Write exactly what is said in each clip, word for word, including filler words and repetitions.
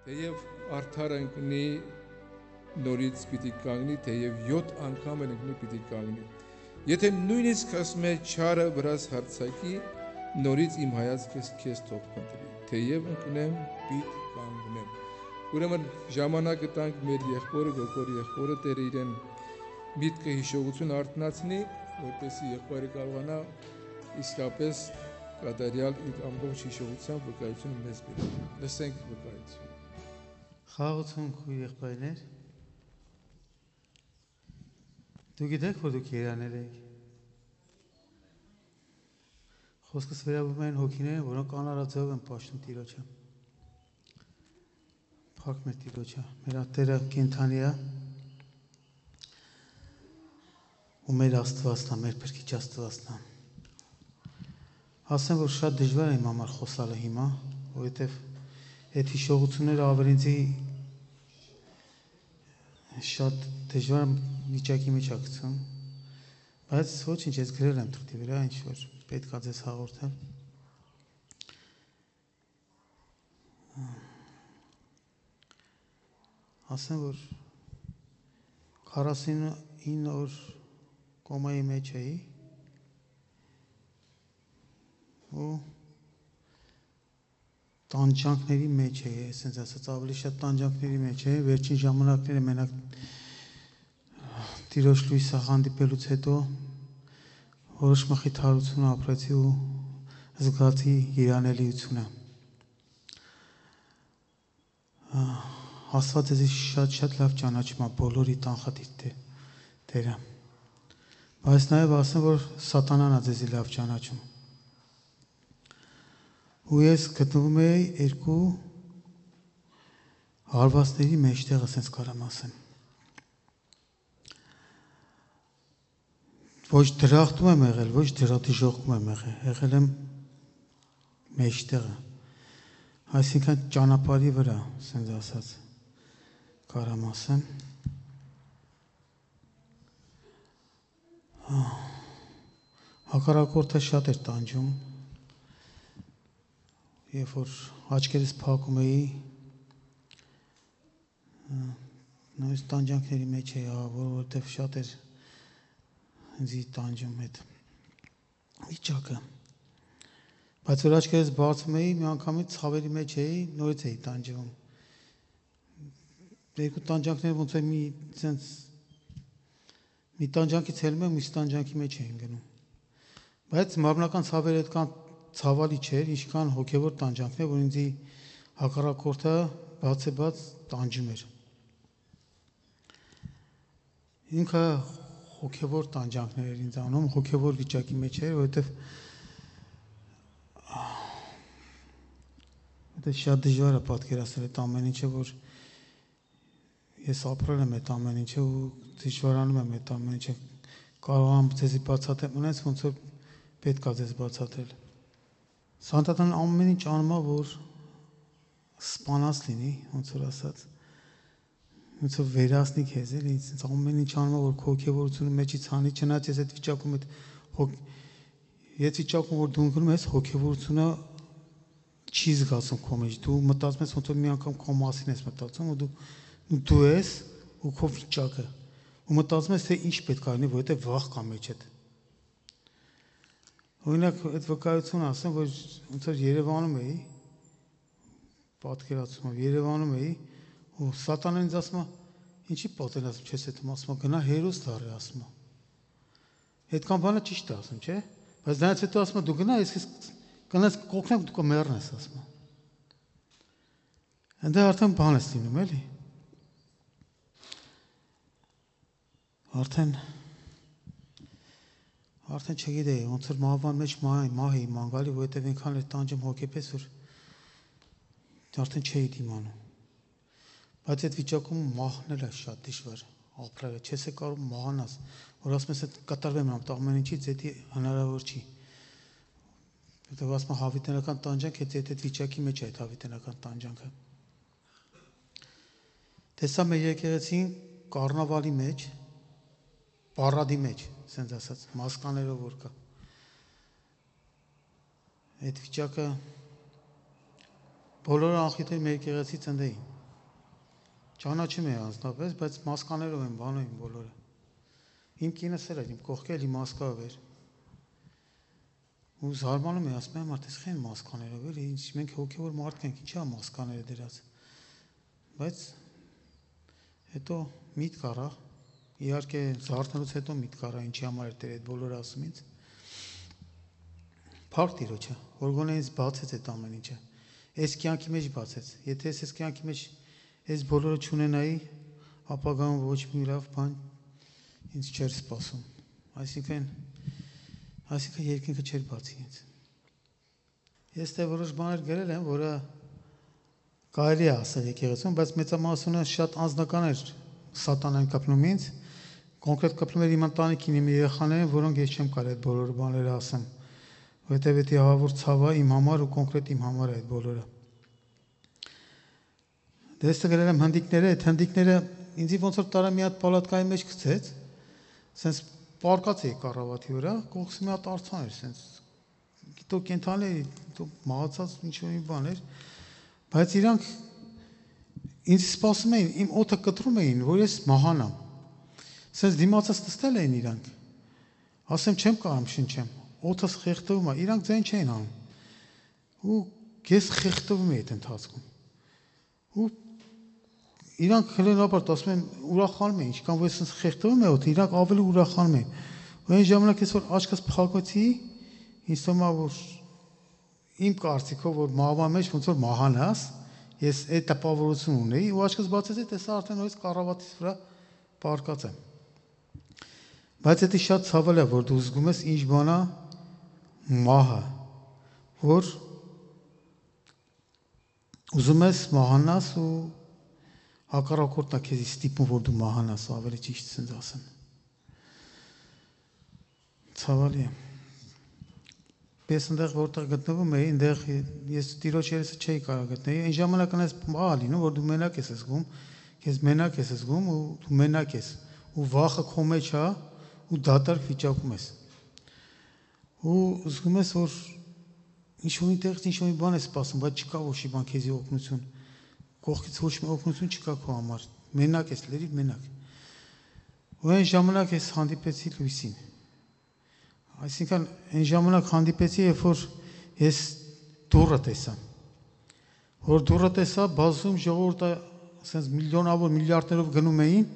Թեև արդարը ընկնի նորից պիտի կանգնի, թեև յոթ անգամ էլ ընկնի պիտի կանգնի։ Եթե նույնիսկ ասում է չարը վրաս հարցակի, նորից իմ հայացքս քեզ թող փնտրի, թեև ընկնեմ, պիտի կանգնեմ։ Ուրեմն ժամանակը տանք մեր եղբորը, գորգոր եղբորը Տերը իրեն միտքը հիշողություն արթնացնի, որպեսզի եղբայրը կարողանա իսկապես կատարյալ իր ամբողջ հիշողությամբ վկայությունը մեզ բերի։ Լսենք վկայությունը։ Խաղացուն քույր եղբայրներ, դու գիտեք, որ դուք երաներ եք։ Խոսքս վերաբերում են հոգիներին, որոնք անարածով են պաշտում Տիրոջը։ Փառք մեր Տիրոջը, մեր Տերը կենդանի է ու մեր Աստվածն է, մեր Փրկիչ Աստվածն է։ Ասեմ, որ շատ դժվար է իմ համար խոսալը հիմա, որովհետև այդ հիշողությունները ավելինցի շատ դժվար վիճակի մեջ է գցում, բայց ոչինչ, ես գրել եմ թղթի վրա, ինչ որ պետք է ձեզ հաղորդեմ։ Ասեմ, որ քառասունինը օր կոմայի մեջ էի ու տանջանքների մեջ էի, այսպես ասած, ավելի շատ տանջանքների մեջ էի, վերջին ժամանակները մենակ Տիրոջ լույսը հանդիպելուց հետո որոշ մխիթարություն ապրեցի ու զգացի երանելիությունը։ Աստված ձեզ շատ-շատ լավ ճանաչում է բոլորի տանխատիր Տերը։ Բայց նաև ասեմ, որ սատանան է ձեզի լավ ճանաչում։ Ու ես գտնվում էի երկու հարվածների մեջտեղ, ասենց կարամ ասեմ։ Ոչ դրախտում եմ եղել, ոչ դրատիժողքում եմ եղել, եղել եմ մեջտեղը, այսինքն ճանապարհի վրա, ասենց ասած, կարամ ասեմ։ Հակառակորդը շատ էր տանջում, երբ որ աչքերս փակում էի, նույնիսկ տանջանքների մեջ էի, որովհետև շատ էր ինձ տանջում այդ վիճակը։ Բայց որ աչքերս բացում էի, մի անգամից ցավերի մեջ էի, նորից էի տանջվում։ Երկու տանջանքները ոնց է մի sense մի տանջանքից ելնում եմ, մյուս տանջանքի մեջ էին գնում։ Բայց մարմնական ցավերը այդքան ցավալի չէր, ինչքան հոգևոր տանջանքներ, որ ինձ հակառակորդը բաց է բաց տանջում էր։ Ինքը հոգևոր տանջանքներ էր ինձ անում, հոգևոր վիճակի մեջ էր, որովհետև դա շատ դժվար է պատկերացնել այդ ամեն ինչը, որ ես ապրել եմ այդ ամեն ինչը ու դժվարանում եմ այդ ամեն ինչը, կարող եմ ձեզի բացատրեմ, ունես ոնց որ պետք է ձեզ բացատրել։ Սատանան ամեն ինչ անում է, որ սպանած լինի, ոնց որ ասած, ոնց որ վերացնի քեզ, էլի, ինձ ամեն ինչ անում է, որ քո հոգևորությունը մեջից հանի, չնայած ես այդ վիճակում այդ այդ վիճակում որ դու ընկնում ես, հոգևորությունը չի զգացում քո մեջ, դու մտածում ես ոնց որ մի անգամ քո մասին ես մտածում ու դու դու ես ու քո վիճակը ու մտածում ես թե ինչ պետք է լինի, որովհետև վախ կա մեջդ։ Օրինակ այդ վկայությունը ասեմ, որ ոնց որ Երևանում էի, պատկերացնում եմ, Երևանում էի ու սատանան ինձ ասում է, ինչի պատերազմ չես հետում, ասում է, գնա հերոս դառի, ասում է։ Այդքան բանը ճիշտ է ասում, չէ՞։ Բայց դրանից հետո ասում է, դու գնա, ես կնես կօգնեմ, դու կմեռնես, ասում է։ Այնտեղ արդեն բան ես լինում, էլի։ Արդեն արդեն չգիտեի, ոնց որ մահվան մեջ մահ էի ման գալի, որովհետև այնքան էր տանջում հոգեպես, որ արդեն չէի դիմանում։ Բայց այդ վիճակում մահնել է շատ դժվար ապրելը, չես է կարող մահանաս, որ ասում ես կտրվեմ ամեն ինչից, դա հնարավոր չի։ Որտեղ ասում եմ հավիտենական տանջանք, այդ այդ վիճակի մեջ է այդ հավիտենական տանջանքը։ Տեսա մեր եկեղեցին կառնավալի մեջ, պարադի մեջ, ասենց ասած, մասկաներով որ կա։ Այդ վիճակը բոլորը անխիթեր մեր եկեղեցի ծննդեին։ Ճանաչում եմ անձնապես, բայց մասկաներով եմ բանում եմ բոլորը։ Իմ կինս էլ էր, իմ կողքել իմ մասկավ էր։ Ու զարմանում եմ, ասում եմ, մարդես խեն մասկաներով էր, ինչ մենք հոգևոր մարդ ենք, ինչա մասկաները դրած։ Բայց հետո միտք առա, իհարկե զարթնելուց հետո միտք առա, ինչի համար էր Տերը այդ բոլորը ասում ինձ։ Փառք Տիրոջը, որ գոնե ինձ բացեց այդ ամեն ինչը։ Այս կյանքի մեջ բացեց։ Եթե ես այս կյանքի մեջ այս բոլորը չունենայի, ապագայում ոչ մի լավ բան ինձ չէր սպասում։ Այսինքն, այսինքն երկինքը չէր բացի ինձ։ Ես դե որոշ բաներ գրել եմ, որը կարելի է ասել եկեղեցում, բայց մեծամասնությունը շատ անձնական էր սատանան կապնում ինձ, կոնկրետ կապնում էր իմ ընտանիքին, իմ երեխաներին, որոնք ես չեմ կարող այդ բոլոր բաները ասեմ, որովհետև դա ահավոր ցավ է իմ համար ու կոնկրետ իմ համար է այդ բոլորը։ Դες գրել եմ հնդիկները, այդ հնդիկները ինձ ոնց որ տարա մի հատ պալատկայի մեջ գցեց, սենց պարկած էի կառավատի վրա, կողքս մի հատ արցան էր, սենց գիտո կենթանի էի, գիտո մահացած ինչ-որ մի բան էր, բայց իրանք ինձ սպասում էին, իմ օդը կտրում էին, որ ես մահանամ։ Սենց դիմացած նստել էին իրանք, ասեմ չեմ կարամ շնչեմ, օդս խեղդվում է, իրանք ձեն չէին անում, ու ես խեղդվում էի այդ ընթացքում, ու իրանք հելենաբարդ ասում են ուրախանում են, ինչքան որ ես սենց խեղդվում է օդը, իրանք ավելի ուրախանում են, ու այն ժամանակ ես որ աչքս փակեցի, ինձ թվում է որ իմ կարծիքով որ մահվան մեջ ոնց որ մահանաս, ես այդ տպավորություն ունեի ու աչքս բացեցի, տեսա արդեն նույնիսկ կառավատից վրա պարկած եմ։ Բայց դա շատ ցավալ է, որ դու զգում ես ինչ բան է մահը, որ ուզում ես մահանաս ու հակառակորդն է քեզի ստիպում, որ դու մահանաս, ավելի ճիշտ ասած ասեմ։ Ցավալի է։ Պես այնտեղ որտեղ գտնվում էի, այնտեղ ես Տիրոջ երեսը չէի կարող գտնել։ Այն ժամանակ այնպես բան է լինում, որ դու մենակ ես զգում, քեզ մենակ ես զգում ու դու մենակ ես, ու վախը քո մեջ է ու դատարկ վիճակում ես։ Ու զգում ես, որ ինչ-որ այնտեղից ինչ-որ մի բան է սպասում, բայց չկա ոչ մի բան քեզի օգնություն։ Կողքից ոչ մի օգնություն չկա քո համար։ Մենակ ես, լրիվ մենակ։ Ու այն ժամանակ ես հանդիպեցի լույսին։ Այսինքն այն ժամանակ հանդիպեցի, երբ որ ես դուռը տեսա։ Որ դուռը տեսա, բազում ժողովուրդը ասենց միլիոնավոր միլիարդներով գնում էին,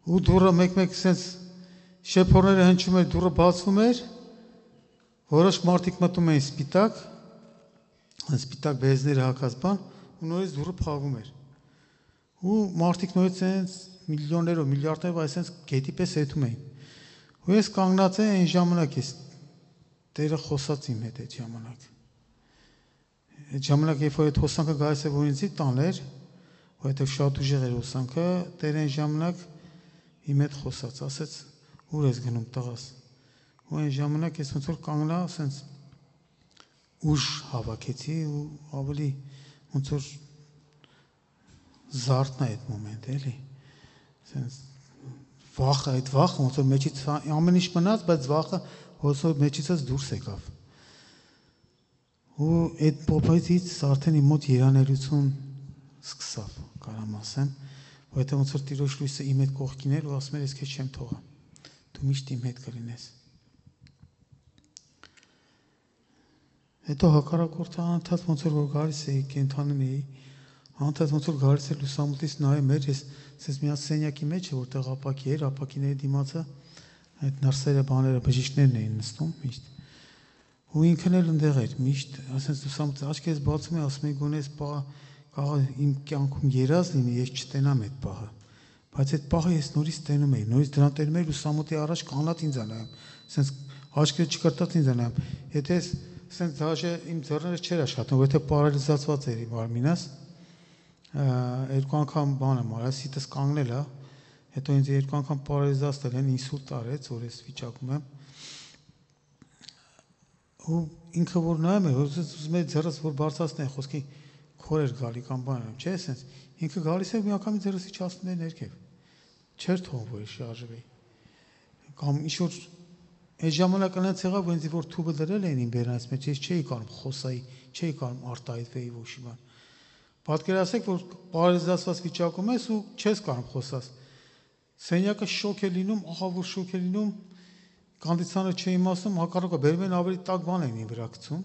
ու դուռը մեկ-մեկ ասենց շեփորները հնչում էր, դուռը բացվում էր, որոշ մարդիկ մտնում էին սպիտակ, սպիտակ բեզները հակած բան, ու նորից դուռը փակվում էր։ Ու մարդիկ նորից ասենց միլիոններով, միլիարդներով այսպես գետի պես եթում էին։ Ու ես կանգնած եմ այն ժամանակ ես Տերը խոսաց իմ հետ այդ ժամանակ։ Այդ ժամանակ երբ որ այդ հոսանքը գալիս է որ ինձի տաներ, որովհետև շատ ուժեղ էր հոսանքը, Տերը այն ժամանակ իմ հետ խոսաց, ասեց ուր ես գնում տղաս։ Ու այն ժամանակ ես ոնց որ կանգնա, ասենց ուժ հավաքեցի ու ավելի ոնց որ զարթնա այդ մոմենտը, էլի։ Ասենց վախը, այդ վախը ոնց որ մեջից ամեն ինչ մնաց, բայց վախը ոնց որ մեջիցս դուրս եկավ։ Ու այդ փոփայից արդեն իմ մոտ երանելություն սկսավ, կարամ ասեմ, որովհետև ոնց որ Տիրոջ լույսը իմ հետ կողքին էր ու ասում էր ես քեզ չեմ թողա։ Դու միշտ իմ հետ կլինես։ Հետո հակառակորդը անընդհատ ոնց որ գալիս էի, կենթանին էի, անընդհատ ոնց որ գալիս էր լուսամուտից նայում էր, ես ասես մի հատ սենյակի մեջ է, որտեղ ապակի էր, ապակիների դիմացը այդ նրսերը բաները, բժիշկներն էին նստում միշտ։ Ու ինքն էլ ընդեղ էր, միշտ, ասես լուսամուտից աչքերս բացում է, ասում է գոնե այս պահը կարող իմ կյանքում երազ լինի, ես չտենամ այդ պահը։ Բայց այդ պահը ես նորից տենում էի, նորից դրան տենում էի լուսամուտի առաջ կանատ ինձ անայում, ասես աչքերը չկրտած ինձ անայում։ Եթե ասես դաժե իմ ձեռները չէր աշխատում, որովհետև պարալիզացված էր իմ մարմինս, երկու անգամ բան եմ արել, սիտս կանգնել է, հետո ինձ երկու անգամ պարալիզացել են, ինսուլտ արեց, որ ես վիճակում եմ։ Ու ինքը որ նայում է, որ ուզում է ձեռս որ բարձրացնի, խոսքի քոր էր գալի կամ բան եմ, չէ՞, ասես։ Ինքը գալիս է մի անգամից ձեռս իջացնում է ներքև։ Չէր թողում որ շարժվի։ Կամ ինչ որ այդ ժամանակ այնց եղավ, որ ինձ որ թուբը դրել էին իմ բերանից մեջ, ես չէի կարող խոսայի, չէի կարող արտահայտվեի ոչ մի բան։ Պատկերացրեք, որ պարալիզացված վիճակում ես ու չես կարող խոսալ։ Սենյակը շոկ է լինում, ահավոր շոկ է լինում, կոնդիցիոները չի իմացում, հակառակը բերում են ավելի տաք բան են վրա գցում։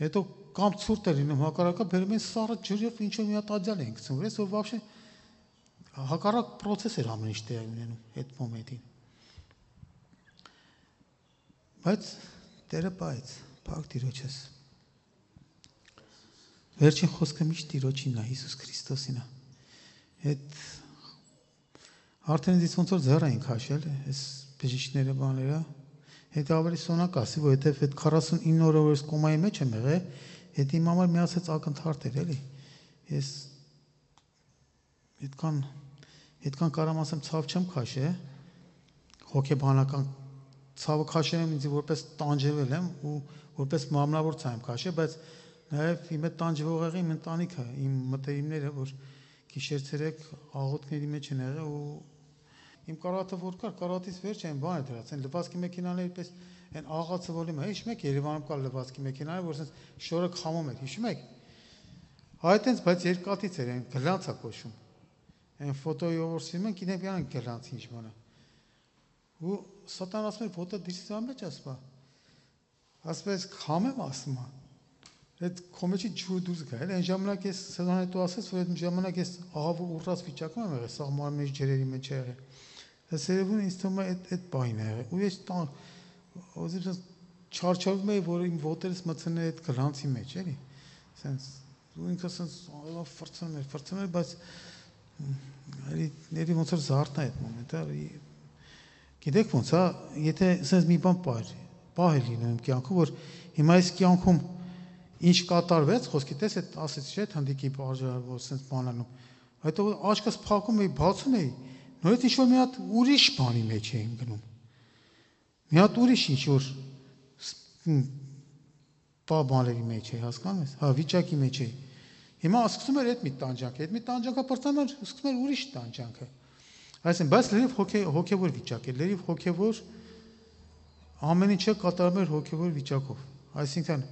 Հետո կամ ցուրտ է լինում, հակառակը բերում են սառը ջրով ինչ-որ մի հատ ադյալ են գցում, ես որ вообще հակառակ process էր ամեն ինչ տեղի ունենում այդ մոմենտին։ Բայց Տերը բայց, փակ Տիրոջս։ Վերջին խոսքը միշտ Տիրոջին է, Հիսուս Քրիստոսին է։ Այդ արդեն դից ոնց որ ձեռ էին քաշել, այս բժիշկները բաները, հետ ավելի սոնակ ասի, որովհետև այդ քառասունինը օրը որ կոմայի մեջ եմ եղել, հետ իմ համար միացած ակնթարթ էր, էլի։ Ես այդքան այդքան կարամ ասեմ ցավ չեմ քաշել, հոգեբանական ցավը քաշել եմ ինձ որպես տանջվել եմ ու որպես մամնավոր ցավ եմ քաշել, բայց նաև իմ այդ տանջվողեղի իմ ընտանիքը, իմ մտերիմները, որ գիշեր-ցերեկ աղոթքների մեջ են եղել ու իմ կարաթը որ կար, կարաթից վերջ այն բանը դրած, այն լվացքի մեքենաների պես այն աղացը ոլիմը, հիշում եք Երևանում կար լվացքի մեքենաները, որ ասես շորը խամում էր, հիշում եք։ Այդ այնց, բայց երկաթից էր, այն գլանց է կոչվում։ Այն ֆոտոյի ովորսիմ են, գիտեմ յան գլանց ինչ բանը։ Ու սատան ասում էր, ոտը դիրսի մեջ ասպա։ Ասում ես խամեմ ասում է։ Այդ կոմեջի ջուրը դուրս գա, էլ այն ժամանակ ես սեզոնը դու ասես, որ այդ ժամանակ ես ահավոր ուռած վիճակում եմ եղել, սաղ մարմնի ջրերի մեջ եղել։ Այս երևում ինձ թվում է այդ այդ բանը եղել։ Ու ես տան ոզիպս չարչարվում էի, որ իմ ոտերս մցնել այդ գլանցի մեջ, էլի։ Սենց ու ինքս սենց ֆրցնում էր, ֆրցնում էր, բայց էլի ների ոնց որ զարթա այդ մոմենտը։ Գիտեք ոնց է, եթե սենց մի բան պահ, պահ է լինում իմ կյանքում, որ հիմա այս կյանքում ինչ կատարվեց, խոսքի տես այդ ասեցի չէ, հանդիկի բարժար, որ սենց բանանում։ Հետո աչքս փակում էի, բացում էի, նորից ինչ-որ մի հատ ուրիշ բանի մեջ էի գնում։ Մի հատ ուրիշ ինչ-որ բաների մեջ էի, հասկանում ես, հա, վիճակի մեջ էի։ Հիմա սկսում էր այդ մի տանջանքը, այդ մի տանջանքը պրծանում էր, սկսում էր ուրիշ տանջանքը։ Այսինքն, բայց լրիվ հոգևոր վիճակ է, լրիվ հոգևոր ամեն ինչը կատարում էր հոգևոր վիճակով։ Այսինքն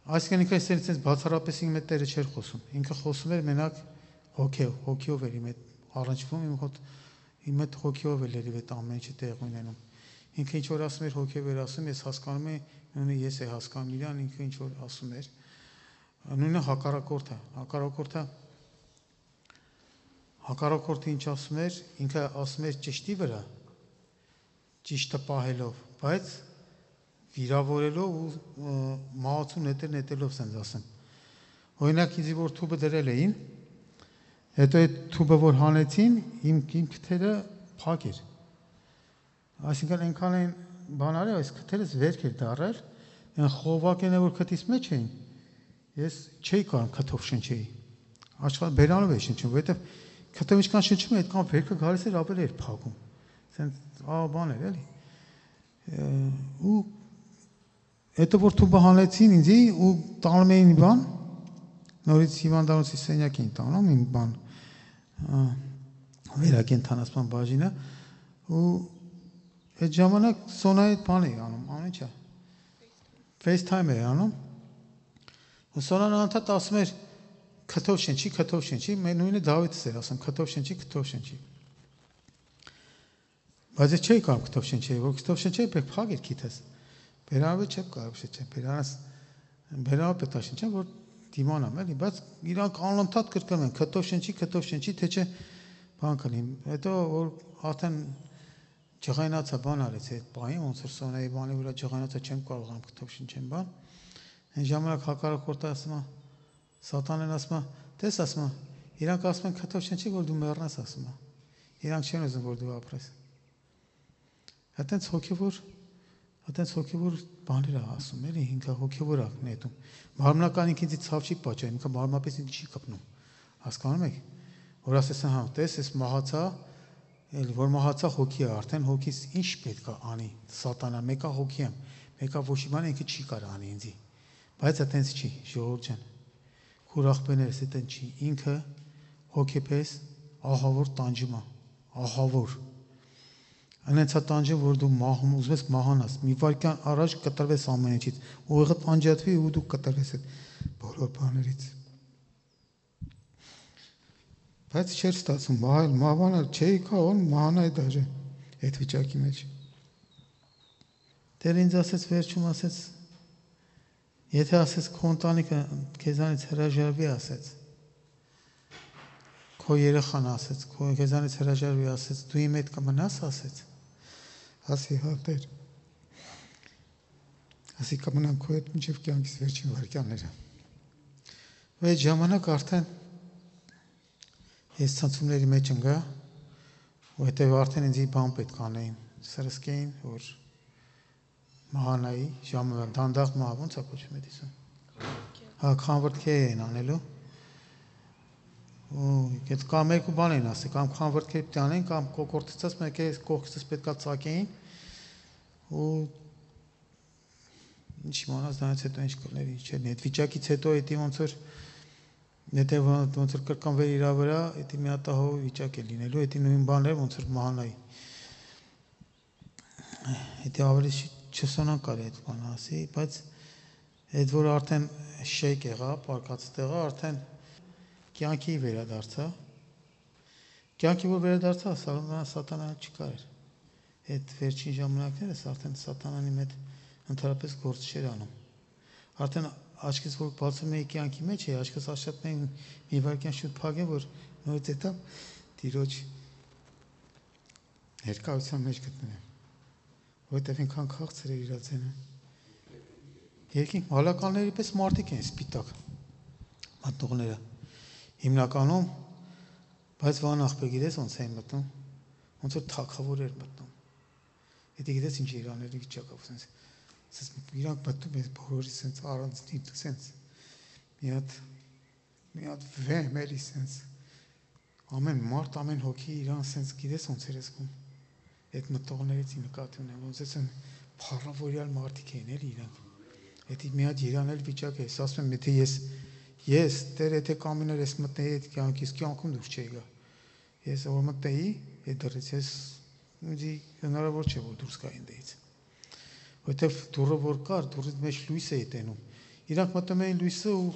Այսինքն ինքը այսպես բացառապես իմ հետ Տերը չէր խոսում։ Ինքը խոսում էր մենակ հոգեով, հոգեով էր իմ հետ առնչվում, իմ հոտ իմ հետ հոգեով էր լրիվ այդ ամեն ինչը տեղի ունենում։ Ինքը ինչ որ ասում էր հոգեով էր ասում, ես հասկանում եմ, նույնը ես է հասկանում իրան, ինքը ինչ որ ասում էր։ Նույնը հակառակորդը, հակառակորդը հակառակորդը ինչ ասում էր, ինքը ասում էր ճշտի վրա, ճիշտը պահելով, բայց վիրավորելով ու մահացու նետեր նետելով սենց ասեմ։ Օրինակ ինձ որ թուբը դրել էին, հետո այդ թուբը որ հանեցին, իմ իմ քթերը փակ էր։ Այսինքն այնքան են բան արել, այս քթերս վերք էր դարել, այն խողովակները որ քթից մեջ էին, ես չէի կարող քթով շնչեի։ Աշխատ բերանով էի շնչում, որովհետև քթով ինչքան շնչում էի, այդքան վերքը գալիս էր ավելի էր փակում։ Սենց ահա բան էր էլի։ Ու Հետո որ թուբը հանեցին ինձի ու տանում էին բան, նորից հիվանդանոցի սենյակ էին տանում իմ բան, վերակենդանացման բաժինը, ու այդ ժամանակ Սոնայի բան էի անում, անում ինչա, FaceTime էի անում, ու Սոնան անդադ ասում էր, քթով շնչի, քթով շնչի, նույնը Դավիթս էր ասում, քթով շնչի, քթով շնչի։ Բայց ես չէի կարող քթով շնչեի, որ քթով շնչեի, պետք փակ էր քիթս։ Բերանով չեմ կարող շնչեմ, բերանս բերանով պետք է շնչեմ, որ դիմանամ էլի, բայց իրանք անընդհատ կրկնում են, քթով շնչի, քթով շնչի, թե չէ բան կլինի։ Հետո որ արդեն ջղայնացա բան արեց այդ բանը, ոնց որ Սոնայի բանի վրա ջղայնացա չեմ կարողանում քթով շնչեմ բան։ Այն ժամանակ հակառակորդը ասում է, Սատանեն ասում է, տես ասում է, իրանք ասում են քթով շնչի, որ դու մեռնես ասում է։ Իրանք չեն ուզում որ դու ապրես։ Այդտենց հոգևոր Այդտենց հոգևոր բաներ է ասում, էլի, ինքը հոգևոր է նետում։ Մարմնական ինքը ինձ ցավ չի պատճառ, ինքը մարմնապես ինձ չի կպնում։ Հասկանում եք։ Որ ասես հա, տես, ես մահացա, էլ որ մահացա հոգի է, արդեն հոգիս ինչ պետք է անի։ Սատանա, մեկը հոգի եմ, մեկը ոչ մի բան ինքը չի կարող անի ինձի։ Բայց այդտենց չի, ժողովուրդ ջան։ Քուր ախպեներս այդտենց չի, ինքը հոգեպես ահավոր տանջում է, ահավոր Անեցա տանջը, որ դու մահում ուզում ես մահանաս, մի վայրկյան առաջ կտրվես ամեն ինչից, ուղեղդ անջատվի ու դու կտրվես այդ բոլոր բաներից։ Բայց չէր ստացվում, մահել, մահանալ չէի կարող, մահանայի դաժե այդ վիճակի մեջ։ Տեր ինձ ասեց վերջում, ասեց, եթե ասեց քո ընտանիքը քեզանից հրաժարվի, ասեց, քո երեխան ասեց, քո քեզանից հրաժարվի, ասեց, դու իմ հետ կմնաս, ասեց, ասի հա Տեր, ասի կմնամ քո հետ մինչև կյանքիս վերջին վայրկյանները։ Ու այդ ժամանակ արդեն ես ցանցումների մեջ ընկա, ու հետև արդեն ինձ բան պետք անեին, սրսկեին, որ մահանայի, ժամը դանդաղ մահ, ոնց է կոչվում այդ իսում։ Հա, քանվրտքե էին անելու։ Ու այդ կամ երկու բան էին ասի, կամ քանվրտքե պետք անեն, կամ կոկորտիցած մեկը կողքից պետքա ծակեին։ Ու ինչ իմանաս դրանից հետո ինչ կլներ, ինչ չէ։ Այդ վիճակից հետո էդի ոնց որ եթե ոնց որ կրկնվեր իր վրա, էդի մի հատ ահով վիճակ է լինելու, էդի նույն բանն էր ոնց որ մահանայի։ Էդի ավելի չսոնան կարի այդ բանը ասի, բայց այդ որ արդեն շեյք եղա, պարկած տեղա, արդեն կյանքի վերադարձա։ Կյանքի որ վերադարձա, սատանան չկար։ Այդ վերջին ժամանակներս արդեն սատանանի հետ ընդհանրապես գործ չէր անում։ Արդեն աչքից որ բացում էի կյանքի մեջ էի, աչքս աշխատում էի մի վայրկյան շուտ փակեմ, որ նորից հետա Տիրոջ ներկայության մեջ գտնվեմ։ Որտեվ ինքան քաղցր էր իր ձենը։ Երկինք մալականների պես մարդիկ են սպիտակ մատնողները։ Հիմնականում, բայց վանախբեր գիտես ոնց էին մտնում, ոնց որ թագավոր էր մտնում։ Եթե գիտես ինչ իրանների վիճակով sense sense իրանք մտնում են բոլորի sense առանձնի sense մի հատ մի հատ վեմ էլի sense ամեն մարդ ամեն հոգի իրան sense գիտես ոնց էր զգում այդ մտողներից նկատի ունեմ ոնց էսն փառավորյալ մարդիկ էին էլի իրանք Եթե մի հատ իրանել վիճակ է, ասում եմ, եթե ես ես Տեր եթե կամիներ ես մտնեի այդ կյանքից կյանքում դուրս չէի գա։ Ես որ մտնեի այդ դրից ես ինձ հնարավոր չէ որ դուրս գայի այնտեղից։ Որտեվ դուրը որ կար, դուրից մեջ լույս էի տենում։ Իրանք մտնում էին լույսը ու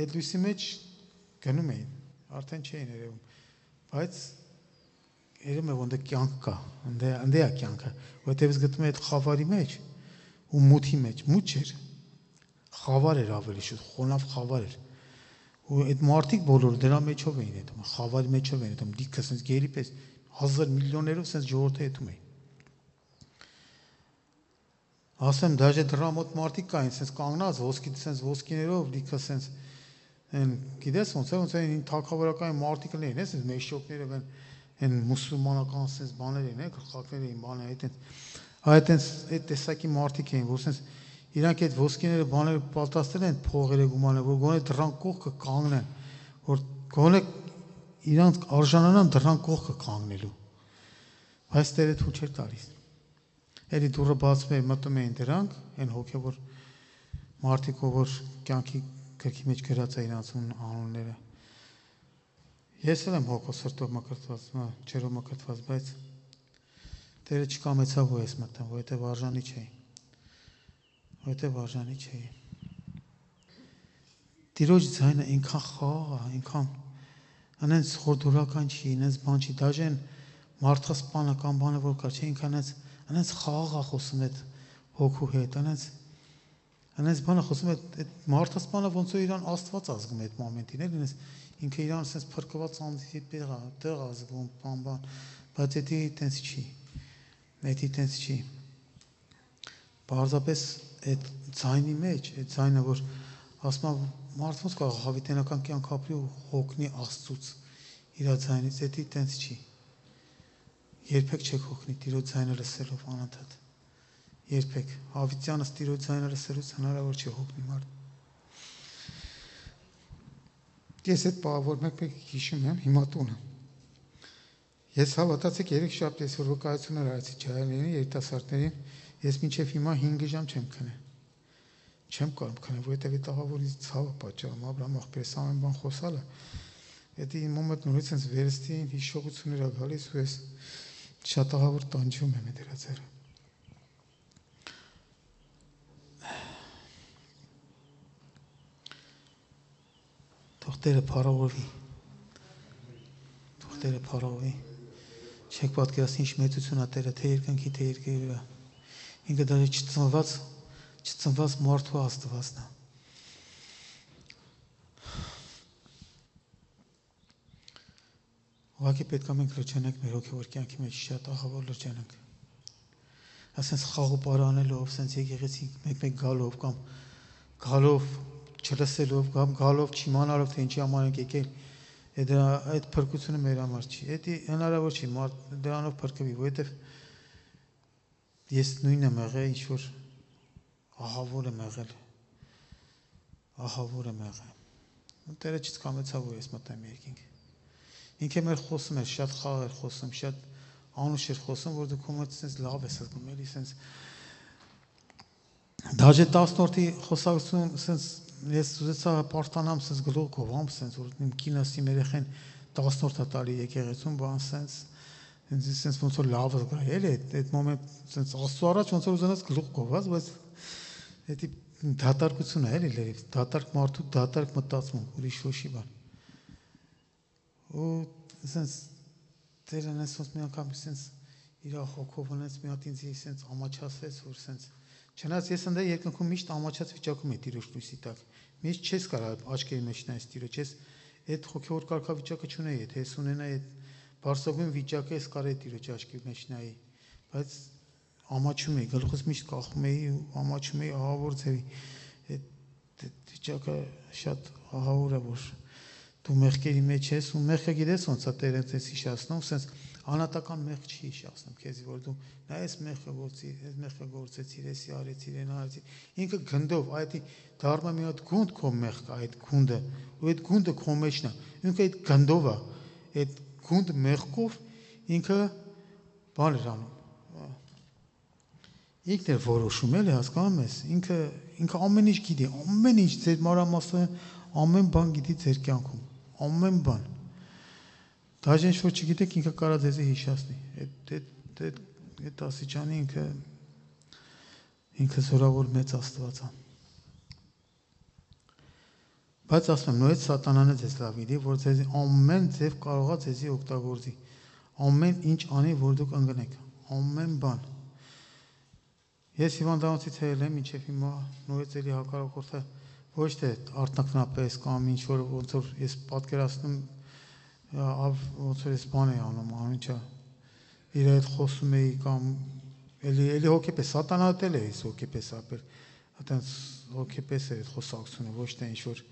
այդ լույսի մեջ գնում էին, արդեն չէին երևում։ Բայց երևում է որ կյանք կա, այնտեղ է կյանքը, որտեվ ես գտնում եմ այդ խավարի մեջ ու մութի մեջ, մութ չէր։ Խավար էր ավելի շուտ, խոնավ խավար էր։ Ու այդ մարդիկ բոլորը դրա մեջով էին հետում, խավարի մեջով էին հետում, լիքը sense գերի պես հազար միլիոներով sense ժողովուրդը հետում էին։ Ասեմ, դաժե դրա մոտ մարդիկ կային, sense կանգնած, ոսկի sense ոսկիներով, լիքը sense այն գիտես ոնց է, ոնց է այն թագավորական մարդիկ էին, էս մեշոկները են, այն մուսուլմանական sense բաներ են, գլխակներ էին, բաներ, այդ այդ այդ տեսակի մարդիկ էին, որ sense իրանք այդ ոսկիները բաները պատրաստել են փողերը գումանը, որ գոնե դրան կողքը կանգնեն, որ գոնե իրանք արժանանան դրան կողքը կանգնելու։ Բայց Տերը թույլ չէր տալիս։ Էլի դուրը բացվում էր, մտնում էին դրանք, այն հոգևոր մարդիկ, որ կյանքի գրքի մեջ գրած է իրանց անունները։ Ես էլ եմ հոգով սրտով մկրտված, չերով մկրտված, բայց Տերը չկամեցավ որ ես մտամ, որովհետև արժանի չէի։ Որտեվ արժանի չէի։ Տիրոջ ձայնը ինքան խաղաղ է, ինքան անենց խորդորական չի, ինենց բան չի, դաժե մարդասպանը կամ բանը որ կա, չէ, ինքան անենց անենց խաղաղ է խոսում այդ հոգու հետ, անենց անենց բանը խոսում է այդ մարդասպանը ոնց որ իրան Աստված ազգում է այդ մոմենտին, էլի ինենց ինքը իրան ասես փրկված անձի տեղ է, տեղ ազգում, բան բան, բայց դա այդպես չի։ Դա այդպես չի։ Պարզապես այդ ձայնի մեջ, այդ ձայնը, որ ասում եմ, մարդ ոնց կարող հավիտենական կյանք ապրի ու հոգնի Աստծուց իր ձայնից, դա այդպես չի։ Երբեք չեք հոգնի Տիրոջ ձայնը լսելով անընդհատ։ Երբեք հավիտյանս Տիրոջ ձայնը լսելուց հնարավոր չէ հոգնի մարդ։ Ես այդ բաղավոր մեկ-մեկ հիշում եմ հիմա տունը։ Ես հավատացեք երեք շաբթի ես որ վկայություն արեցի ջահելներին, երիտասարդներին, ես մինչև հիմա հինգ ժամ չեմ քնել։ Չեմ կարող քնել, որովհետև այդ աղավորից ցավը պատճառում, Աբրահամ աղբերս ամեն բան խոսալը։ Դա իմ մոտ նորից sense վերստի հիշողություններ ա գալիս ու ես շատ աղավոր տանջում եմ դրա ձեռը։ Թող Տերը փառավորվի։ Տերը փառավի։ Չեք պատկերացնի ինչ մեծություն է Տերը, թե երկնքի, թե երկրի վրա։ Ինքը դա չծնված, չծնված մարդու Աստվածն է։ Ուղղակի պետք է մենք լրջանանք մեր հոգևոր կյանքի մեջ, շատ ահավոր լրջանանք։ Ասենց խաղ ու պարանելով, ասենց եկեղեցի մեկ-մեկ գալով կամ գալով չլսելով կամ գալով չիմանալով թե ինչի համար ենք եկել, դա այդ փրկությունը մեր համար չի։ Դա հնարավոր չի, մարդ դրանով փրկվի, որովհետև ես նույնն եմ եղել, ինչ որ ահավոր եմ եղել։ Ահավոր եմ եղել։ Տերը չկամեցավ, որ ես մտեմ երկինք։ Ինքը մեր խոսում էր, շատ խաղ էր խոսում, շատ անուշ էր խոսում, որ դու քո մեջ sense լավ ես զգում, էլի sense Դաժե տասնորդի խոսակցություն sense ես ուզեցա պարտանամ sense գլուխ գովամ sense որ իմ կինս իմ երեխեն տասնորդա տալի եկեղեցում, բան sense sense ոնց որ լավ զգա, էլի այդ մոմենտ sense աստծո առաջ ոնց որ ուզենաս գլուխ գոված, բայց դա դատարկություն է, էլի լրիվ, դատարկ մարդու դատարկ մտածում, ուրիշ ոչի բան։ Ու sense Տերն էս ոնց մի անգամ sense իր հոգով ունեց մի հատ ինձ sense ամաչացրեց, որ sense չնայած ես ընդ երկնքում միշտ ամաչած վիճակում եմ Տիրոջ լույսի տակ։ Միշտ չես կարող աչքերի մեջ նայես Տիրոջ, ես այդ հոգևոր կարգավիճակը չունեի, եթե ես ունենայի այդ բարձրագույն վիճակը, ես կարեի Տիրոջ աչքի մեջ նայի, բայց ամաչում էի, գլուխս միշտ կախում էի ու ամաչում էի ահավոր ձևի։ Այդ վիճակը շատ ահավոր է, որ դու մեղքերի մեջ ես ու մեղքը գիտես ոնց է Տերը ցես հիշացնում, sense անհատական մեղք չի հիշացնում քեզ, որ դու նա էս մեղքը գործի, այս մեղքը գործեցիր, էսի արեցիր, այն արեցիր։ Ինքը գնդով, այդ դառնա մի հատ գունդ քո մեղքը, այդ գունդը, ու այդ գունդը քո մեջն է։ Ինքը այդ գնդով է, այդ գունդ մեղքով ինքը բան էր անում։ Ինքն է որոշում, էլի հասկանում ես, ինքը ինքը ամեն ինչ գիտի, ամեն ինչ ձեր մանրամասն ամեն բան գիտի ձեր կյանքում, ամեն բան։ Դաժե ինչ որ չգիտեք, ինքը կարա ձեզ հիշացնի։ Այդ այդ այդ այդ աստիճանի ինքը ինքը զորավոր մեծ Աստված է։ Բայց ասում եմ, նույնիսկ սատանան է ձեզ լավ գիտի, որ ձեզ ամեն ձև կարողա ձեզի օգտագործի։ Ամեն ինչ անի, որ դուք ընկնեք, ամեն բան։ Ես հիվանդանոցից ելել եմ, ինչեվ հիմա նույնիսկ էլի հակառակորդը ոչ թե արտնականապես կամ ինչ որ ոնց որ ես պատկերացնում ոնց որ ես բան էի անում, անիչա իր այդ խոսում էի կամ էլի էլի հոգեպես սատանա դել է ես հոգեպես ապել, այտենց հոգեպես էր այդ խոսակցությունը, ոչ թե ինչ որ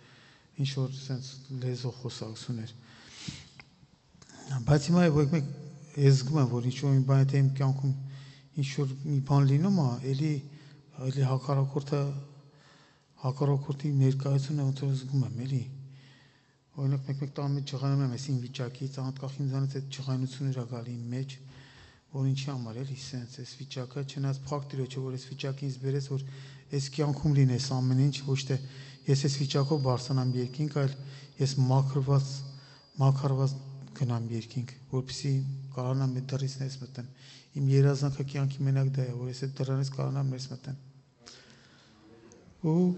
ինչ որ sense լեզու խոսակցություն էր։ Բայց հիմա եկեք ես զգում եմ, որ ինչ որ մի բան է իմ կյանքում ինչ որ մի բան լինում է, էլի էլի հակառակորդը հակառակորդի ներկայությունը ոնց որ զգում եմ, էլի։ Օրինակ մեկ-մեկ տան մեջ ջղայնում եմ այսին վիճակից, անդկախ ինձանից այդ ջղայնությունն է գալի իմ մեջ, որ ինչի համար էլի sense այս վիճակը, չնայած փակ Տիրոջը, որ այս վիճակին ինձ բերեց, որ այս կյանքում լինես ամեն ինչ, ոչ թե ես այս վիճակով բարձրանամ երկինք, այլ ես մաքրված, մաքրված գնամ երկինք, որպեսզի կարողանամ այդ դռից ներս մտնել։ Իմ երազանքը կյանքի մենակ դա է, որ ես այդ դռանից կարողանամ ներս մտնել։ Ու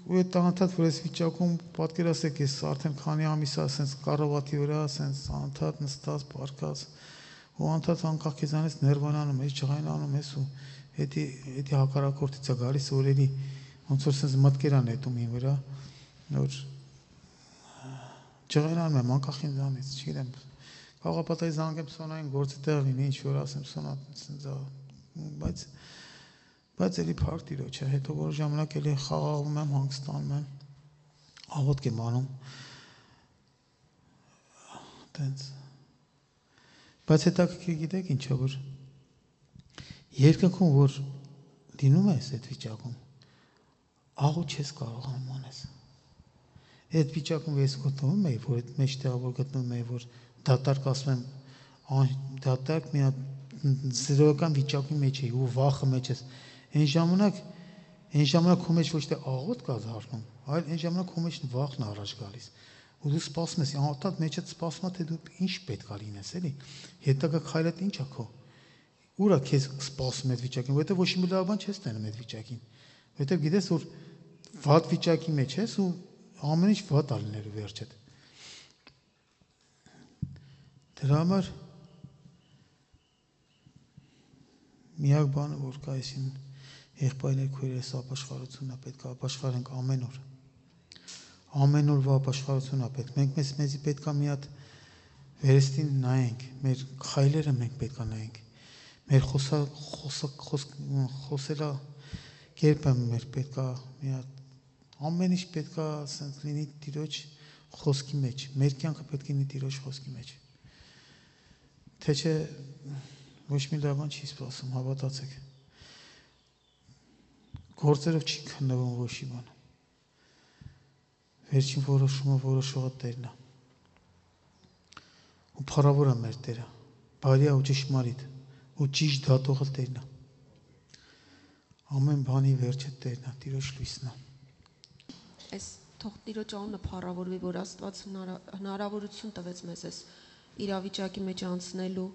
ու այդ անդադ որ այս վիճակում պատկերացեք, ես արդեն քանի ամիս է ասենց կառավատի վրա, ասենց անդադ նստած, պարկած, ու անդադ անկախ քեզանից ներվանանում ես, ջղայնանում ես ու հետի հետի հակառակորդից է գալիս, որ էլի ոնց որ ասենց մտքեր ան հետում ին վրա, որ ջղայնանում եմ անկախ ինձանից, չգիտեմ, կարող է պատահի զանգեմ Սոնային գործի տեղ լինի, ինչ որ ասեմ Սոնա, ասենց բայց բայց էլի փառք Տիրոջ է, հետո որ ժամանակ էլի խաղաղում եմ, հանգստանում եմ, աղոթք եմ անում, տենց, բայց հետաքրքիր գիտեք ինչ է, որ երկնքում, որ լինում ես այդ վիճակում, աղոթ չես կարողանում անես, այդ վիճակում ես գտնվում էի, որ այդ մեջտեղը որ գտնվում էի, որ դատարկ ասում եմ, դատարկ մի հատ զրոյական վիճակի մեջ էի ու վախը մեջ ես, այն ժամանակ, այն ժամանակ քո մեջ ոչ թե աղոթք կա դառնում, այլ այն ժամանակ քո մեջ վախն է առաջ գալիս, ու դու սպասում ես, անդադ մեջդ սպասում է, թե դու ինչ պետք է լինես, էլի, հետագա քայլդ ինչ է քո, ուր է քեզ սպասում այդ վիճակին, որովհետև ոչ մի լավ բան չես տենում այդ վիճակին, որովհետև գիտես, որ վատ վիճակի մեջ ես ու ամեն ինչ վատ է լինելու վերջդ։ Դրա համար միակ բանը, որ կա այսին եղբայրներ քույրերս ապաշխարությունն է պետք է ապաշխարենք ամեն օր։ Ամեն օր ապաշխարությունն է պետք։ Մենք մեզ մեզի պետք է մի հատ վերստին նայենք, մեր խայլերը մենք պետք է նայենք։ Մեր խոսա խոսելա կերպը մեր պետք է մի հատ ամեն ինչ պետք է ասենք լինի Տիրոջ խոսքի մեջ։ Մեր կյանքը պետք է լինի Տիրոջ խոսքի մեջ։ Թե չէ ոչ մի լավ բան չի սպասում, հավատացեք։ Գործերով չի քննվում ոչ մի բան։ Վերջին որոշումը որոշողը Տերն է։ Ու փառավոր է մեր Տերը, բարի ու ճշմարիտ, ու ճիշտ դատողը Տերն է։ Ամեն բանի վերջը Տերն է, Տիրոջ լույսն է։ Այս թող Տիրոջ անունը փառավորվի, որ Աստված հնարավորություն տվեց մեզ այս իրավիճակի մեջ անցնելու,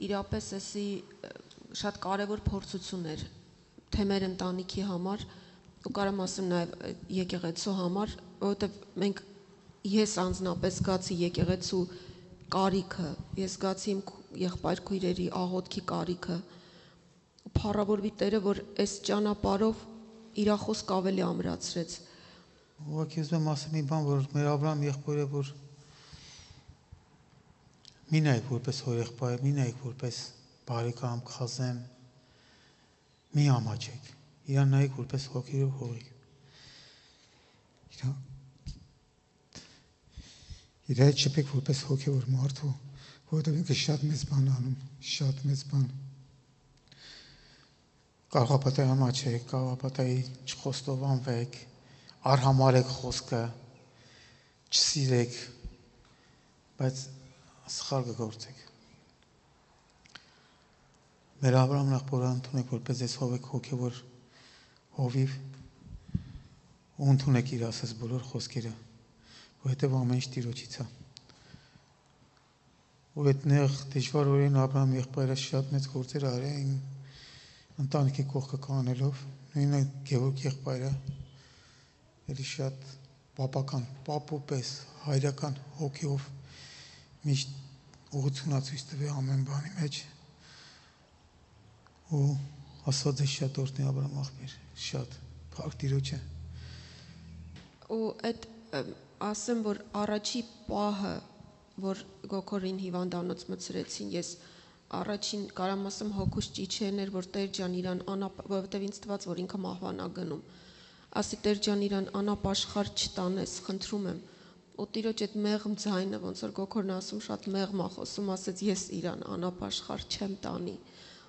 իրապես էսի շատ կարևոր փորձություն էր թե մեր ընտանիքի համար, ու կարամ ասեմ նաև եկեղեցու համար, որովհետև մենք ես անձնապես զգացի եկեղեցու կարիքը, ես զգացի իմ եղբայր քույրերի աղոթքի կարիքը, փառավորվի Տերը, որ այս ճանապարհով իր խոսքը ավելի ամրացրեց։ Ուղղակի ուզում եմ ասեմ մի բան, որ մեր Աբրահամ եղբայրը, որ մի նայեք որպես հորեղբայր, մի նայեք որպես բարեկամ, խազեմ, մի ամաչեք, իրան նայեք որպես հոգերով հողիկ։ Իր հետ շփեք որպես հոգևոր մարդու, որովհետև ինքը շատ մեծ բան անում, շատ մեծ բան։ Կարողապատայի ամաչեք, կարողապատայի չխոստովանվեք, արհամարեք խոսքը, չսիրեք, բայց սխալ կգործեք։ Մեր Աբրահամն եղբորը ընդունեք որպես այս հովեք հոգևոր հովիվ ու ընդունեք իր ասած բոլոր խոսքերը, որովհետև ամեն ինչ Տիրոջից է։ Ու այդ նեղ դժվար օրերին Աբրահամ եղբայրը շատ մեծ գործեր արել իմ ընտանիքի կողքը կանելով, նույնը Գևորգ եղբայրը էլի շատ պապական, պապու պես, հայրական հոգիով միշտ ուղղությունացույց տվի ամեն բանի մեջ։ Ու Աստված է շատ օրհնի Աբրահամ աղբեր, շատ փառք Տիրոջը։ Ու այդ ասեմ, որ առաջի պահը, որ Գոքորին հիվանդանոց մցրեցին, ես առաջին կարամ ասեմ հոգուս ճիչերն էր, որ Տեր ջան իրան անապ, որովհետև ինձ թվաց, որ ինքը մահվան ա գնում։ Ասի Տեր ջան իրան անապաշխար չտանես, խնդրում եմ։ Ու Տիրոջ այդ մեղմ ձայնը, ոնց որ Գոքորն ասում, շատ մեղմ ա խոսում, ասեց ես իրան անապաշխար չեմ տանի։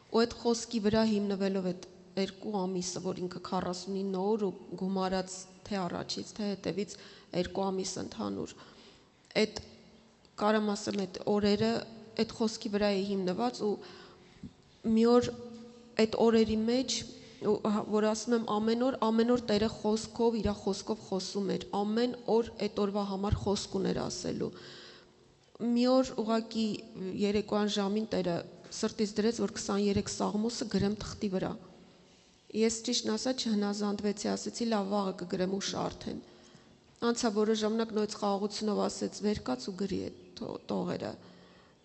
Ու այդ խոսքի վրա հիմնվելով այդ երկու ամիսը, որ ինքը քառասունինը օր ու գումարած թե առաջից, թե հետևից երկու ամիս ընդհանուր, այդ կարամ ասեմ այդ օրերը այդ խոսքի վրա է հիմնված ու մի օր այդ օրերի մեջ, որ ասում եմ ամեն օր, ամեն օր Տերը խոսքով, իր խոսքով խոսում էր, ամեն օր այդ օրվա համար խոսք ուներ ասելու։ Մի օր ուղղակի երեկոյան ժամին Տերը սրտից դրեց, որ քսաներեք սաղմոսը գրեմ թղթի վրա։ Ես ճիշտն ասած չհնազանդվեցի, ասեցի լավ վաղը կգրեմ ու շարթեն։ Անցա որը ժամանակ նույնց խաղաղությունով ասեց վեր կաց ու գրի այդ տողերը։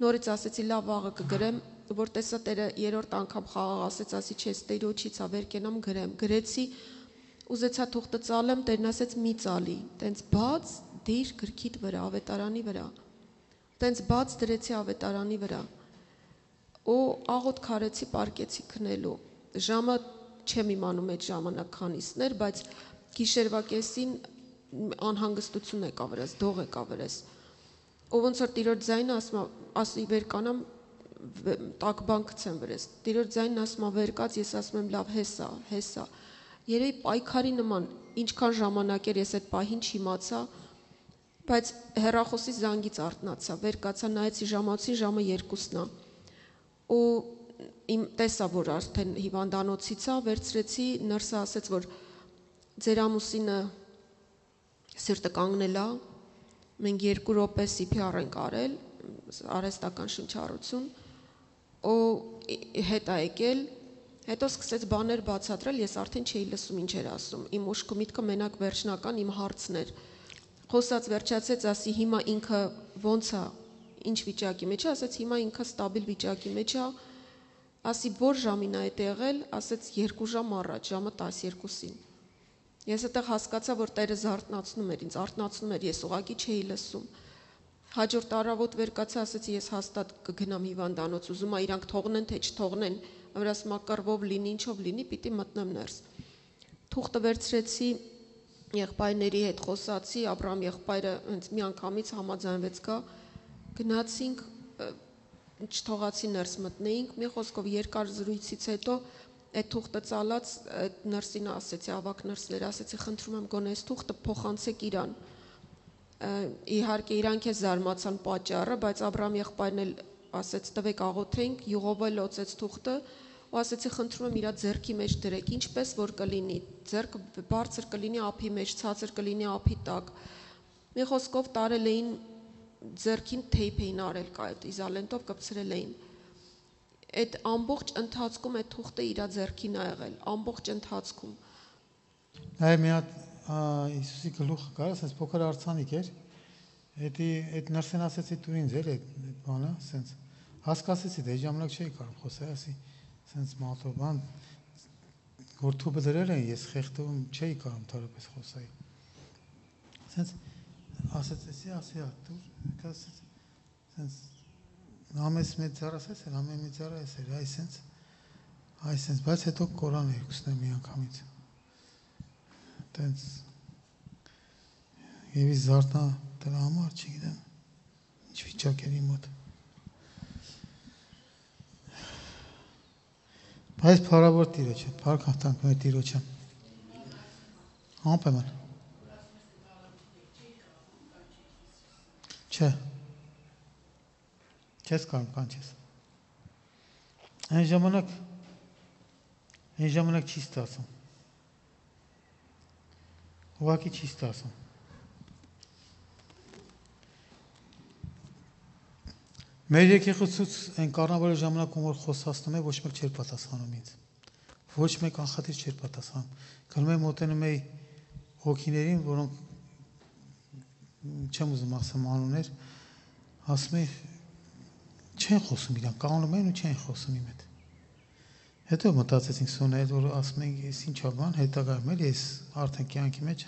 Նորից ասեցի լավ վաղը կգրեմ, որ տեսա Տերը երրորդ անգամ խաղաղ ասեց, ասի չես Տերոջից ա վեր կենամ գրեմ։ Գրեցի, ուզեցա թուղթը ծալեմ, Տերն ասեց մի ծալի, տենց բաց դիր գրքիդ վրա, ավետարանի վրա։ Տենց բաց դրեցի ավետարանի վրա։ Ու աղոտ քարեցի, պարկեցի քնելու։ Ժամը չեմ իմանում այդ ժամանակ քանիսներ, բայց գիշերվա կեսին անհանգստություն եկա վրաս, դող եկա վրաս։ Ու ոնց որ Տիրոջ ձայնը ասում է, ասի վեր կանամ, տակ բան գցեմ վրաս։ Տիրոջ ձայնն ասում է վեր կաց, ես ասում եմ լավ, հեսա, հեսա։ Երևի պայքարի նման, ինչքան ժամանակ էր ես այդ պահին չիմացա, բայց հեռախոսի զանգից արթնացա, վեր կացա, նայեցի ժամացի, ժամը երկուսն է։ Ու իմ տեսա, որ արդեն հիվանդանոցից է, վերցրեցի, նրսը ասեց, որ ձեր ամուսինը սիրտը կանգնել է, մենք երկու րոպե սի փի ար ենք արել, արհեստական շնչառություն, ու հետ ա եկել, հետո սկսեց բաներ բացատրել, ես արդեն չէի լսում ինչ էր ասում, իմ ուշքը միտքը մենակ վերջնական իմ հարցն էր, խոսած վերջացեց, ասի հիմա ինքը ոնց է, ինչ վիճակի մեջ է, ասեց հիմա ինքը ստաբիլ վիճակի մեջ է, ասի որ ժամին է այդ եղել, ասեց երկու ժամ առաջ, ժամը տասներկուսին։ Ես այդտեղ հասկացա, որ Տերը զարթնացնում էր ինձ, արթնացնում էր, ես ուղղակի չէի լսում։ Հաջորդ առավոտ վեր կացա, ասեցի ես հաստատ կգնամ հիվանդանոց, ուզում ա իրանք թողնեն, թե չթողնեն, վրաս մակարվով լինի, ինչով լինի, պիտի մտնեմ ներս։ Թուղթը վերցրեցի, եղբայրների հետ խոսացի, Աբրահամ եղբայրը հենց մի անգամից համաձայնվեց գա, գնացինք, չթողացի ներս մտնեինք, մի խոսքով երկար զրույցից հետո այդ թուղթը ծալած նրսին ասեցի, ավակ նրսներ, ասեցի խնդրում եմ գոնե այս թուղթը փոխանցեք իրան։ Իհարկե իրանք է զարմացան պատճառը, բայց Աբրահամ եղբայրն էլ ասեց տվեք աղոթենք, յուղով էլ լոցեց թուղթը ու ասեցի խնդրում եմ իրա ձեռքի մեջ դրեք, ինչպես որ կլինի, ձեռքը բարձր կլինի ափի մեջ, ցածր կլինի ափի տակ։ Մի խոսքով տարել էին ձեռքին թեյփ էին արել կա այդ իզալենտով կպցրել էին։ Այդ ամբողջ ընթացքում այդ թուղթը իրա ձեռքին ա եղել, ամբողջ ընթացքում։ Այ մի հատ Հիսուսի գլուխը կար, ասես փոքր արցանիկ էր։ Էդի այդ նրսեն ասեցի դու ինձ էր այդ բանը, ասենց հասկացեցի, դե ժամանակ չէի կարող խոսել, ասի, ասենց մատով բան որ թուբը դրել են, ես խեղդում չէի կարող թարապես խոսայի։ Ասենց ասեցի, ասի, դու ասեց, ասենց ամես մեծ ծառասես էր, ամեն մեծ ծառայես էր, այ սենց, այ սենց, բայց հետո Կորան էր ուսնել մի անգամից։ Տենց եւ ի զարթնա դրա համար չգիտեմ ինչ վիճակերի մոտ բայց փառավոր Տիրոջ է փառք հաղթանք մեր Տիրոջը անպայման չէ չես կարող կանչես այն ժամանակ այն ժամանակ չի ստացվում ուղղակի չի ստացվում։ Մեր եկեղեցուց այն կառնավարի ժամանակում որ խոսացնում է ոչ մեկ չէր պատասխանում ինձ։ Ոչ մեկ անխատիր չէր պատասխանում։ Գնում եմ մոտենում էի հոգիներին, որոնք չեմ ուզում ասեմ անուններ, ասում էի չեն խոսում իրան, կանոնում են ու չեն խոսում իմ հետ։ Հետո մտածեցինք Սոնայել, որ ասում ենք, ես ինչ բան, հետագայում էլ ես արդեն կյանքի մեջ,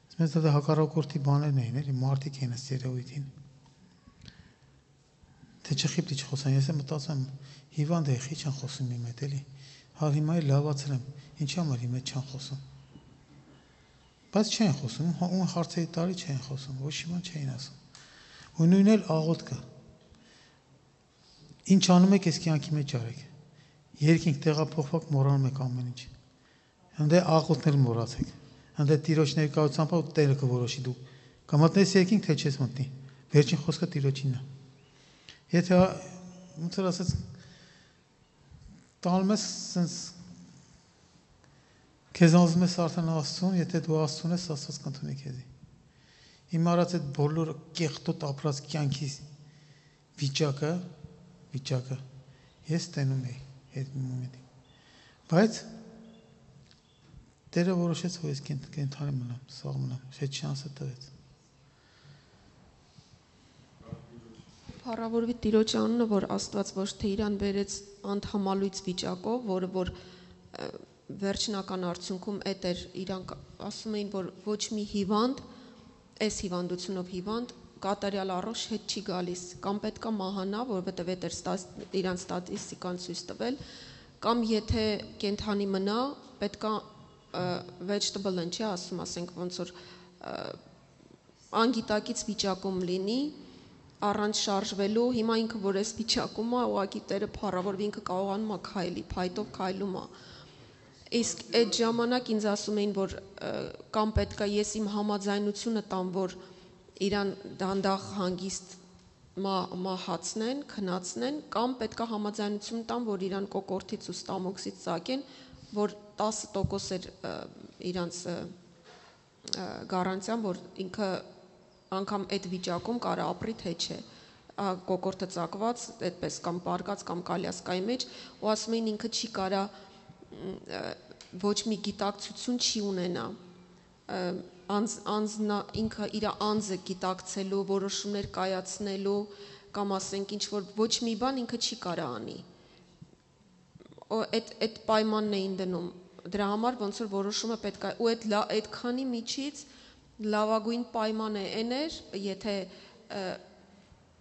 ասում եմ, դա հակառակորդի բաներն էին, էլի մարդիկ են ըստ երևույթին։ Թե չխիպտի չխոսան, ես եմ մտածում, հիվանդ է, խի չեն խոսում իմ հետ, էլի։ Հա հիմա էլ լավացել եմ, ինչի համար իմ հետ չեն խոսում։ Բայց չեն խոսում, ու հարցերի տարի չեն խոսում, ոչ մի բան չէին ասում։ Ու նույնն էլ աղոթքը։ Ինչ անում եք, այս կյանքի մեջ արեք։ Երկինք տեղափոխվակ մոռանում եք ամեն ինչ։ Հանդե աղոթնել մոռացեք։ Հանդե Տիրոջ ներկայությամբ ու Տերը կորոշի դու կմտնես երկինք թե չես մտնի։ Վերջին խոսքը Տիրոջինն է։ Եթե ոնց որ ասած տալում ես sense քեզ ուզում ես արդեն Աստծուն, եթե դու Աստծուն ես, Աստված կընդունի քեզի։ Իմ արած այդ բոլոր կեղտոտ ապրած կյանքի վիճակը, վիճակը ես տենում եի այդ մոմենտին։ Բայց Տերը որոշեց, որ ես կենթանի մնամ, սաղ մնամ, այդ շանսը տվեց։ Փառավորվի Տիրոջ անունը, որ Աստված ոչ թե իրան բերեց անդհամալույց վիճակով, որը որ վերջնական արդյունքում այդ էր իրանք ասում էին, որ ոչ մի հիվանդ, այս հիվանդությունով հիվանդ կատարյալ առողջ հետ չի գալիս, կամ պետքա մահանա, որովհետև այդ էր իրան ստատիստիկան ցույց տվել, կամ եթե կենթանի մնա, պետքա vegetable են, չի ասում, ասենք ոնց որ անգիտակից վիճակում լինի, առանց շարժվելու, հիմա ինքը որ էս վիճակում է, ուղղակի Տերը փառավորվի ինքը կարողանում է քայլի, փայտով քայլում է։ Իսկ այդ ժամանակ ինձ ասում էին, որ կամ պետքա ես իմ համաձայնությունը տամ, որ իրան դանդաղ հանգիստ մահացնեն, քնացնեն, կամ պետքա համաձայնություն տամ, որ իրան կոկորտից ու ստամոքսից ծակեն, որ տասը տոկոս էր իրանց գարանտիան, որ ինքը անգամ այդ վիճակում կարա ապրի թե չէ, կոկորտը ծակված, այդպես կամ պարկած կամ կալյասկայի մեջ, ու ասում էին ինքը չի կարա ոչ մի գիտակցություն չի ունենա, անձ, անձնա, ինքը իր անձը գիտակցելու, որոշումներ կայացնելու, կամ ասենք ինչ որ ոչ մի բան ինքը չի կարա անի։ Այդ այդ պայմանն էին դնում։ Դրա համար ոնց որ որոշումը պետք է ու այդ այդ քանի միջից լավագույն պայմանը այն էր, եթե